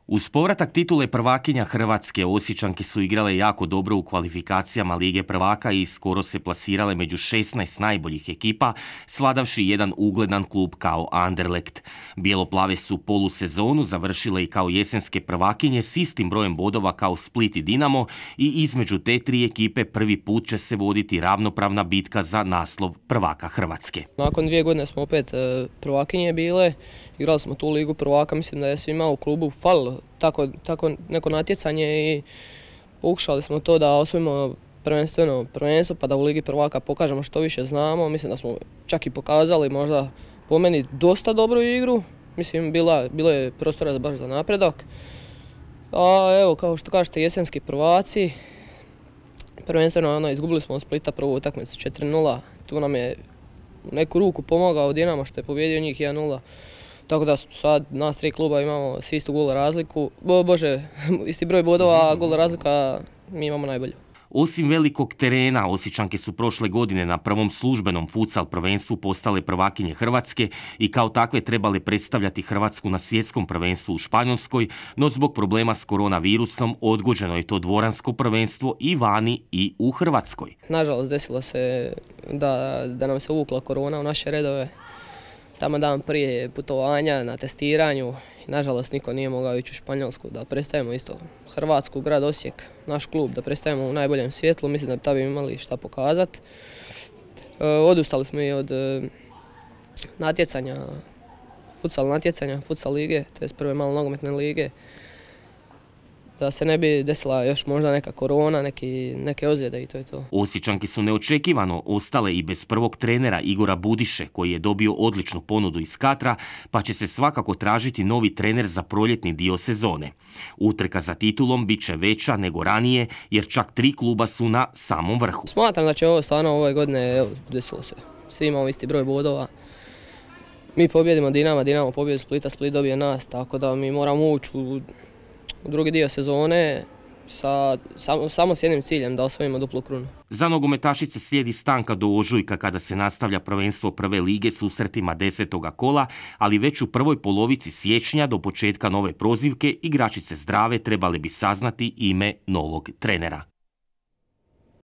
Uz povratak titule prvakinja Hrvatske, Osječanke su igrale jako dobro u kvalifikacijama Lige prvaka i skoro se plasirale među 16 najboljih ekipa, svladavši jedan ugledan klub kao Anderlecht. Bijeloplave su polusezonu završile i kao jesenske prvakinje s istim brojem bodova kao Split i Dinamo i između te tri ekipe prvi put će se voditi ravnopravna bitka za naslov prvaka Hrvatske. Nakon 2 godine smo opet prvakinje bile, igrali smo tu Ligu prvaka, mislim da je svima u klubu falilo tako neko natjecanje i pokušali smo to da osvojimo prvenstvo pa da u Ligi prvaka pokažemo što više znamo. Mislim da smo čak i pokazali možda po meni dosta dobru igru, mislim bilo je prostora baš za napredak. A evo, kao što kažete, jesenski prvaci, prvenstveno izgubili smo od Splita prvu utakmicu 4:0, tu nam je u neku ruku pomogao Dinamo što je pobijedio njih 1:0. Tako da sad nas tri kluba imamo svi istu gol razliku, isti broj bodova, a gol razlika mi imamo najbolju. Osim velikog terena, Osječanke su prošle godine na prvom službenom futsal prvenstvu postale prvakinje Hrvatske i kao takve trebale predstavljati Hrvatsku na svjetskom prvenstvu u Španjolskoj, no zbog problema s koronavirusom odgođeno je to dvoransko prvenstvo i vani i u Hrvatskoj. Nažalost, desilo se da nam se uvukla korona u naše redove. Tamo dan prije putovanja na testiranju. Nažalost, niko nije mogao ići u Španjolsku da predstavimo isto Hrvatsku, grad Osijek, naš klub, da predstavimo u najboljem svjetlu. Mislim da bi tada imali šta pokazati. Odustali smo i od natjecanja, futsal lige, to je prve malo nogometne lige. Da se ne bi desila još možda neka korona, neke ozljede i to je to. Osječanke su neočekivano ostale i bez prvog trenera Igora Budiše, koji je dobio odličnu ponudu iz Katra, pa će se svakako tražiti novi trener za proljetni dio sezone. Utrka za titulom bit će veća nego ranije, jer čak 3 kluba su na samom vrhu. Smatram da će ovo stvarno ove godine, desilo se. Svi imamo isti broj bodova. Mi pobjedimo Dinamo pobjedi Splita, Split dobije nas, tako da mi moramo ući u drugi dio sezone samo s jednim ciljem, da osvojimo duplu krunu. Za nogometašice slijedi stanka do ožujka kada se nastavlja prvenstvo prve lige susretima 10. kola, ali već u prvoj polovici siječnja do početka nove prozivke igračice zdrave trebale bi saznati ime novog trenera.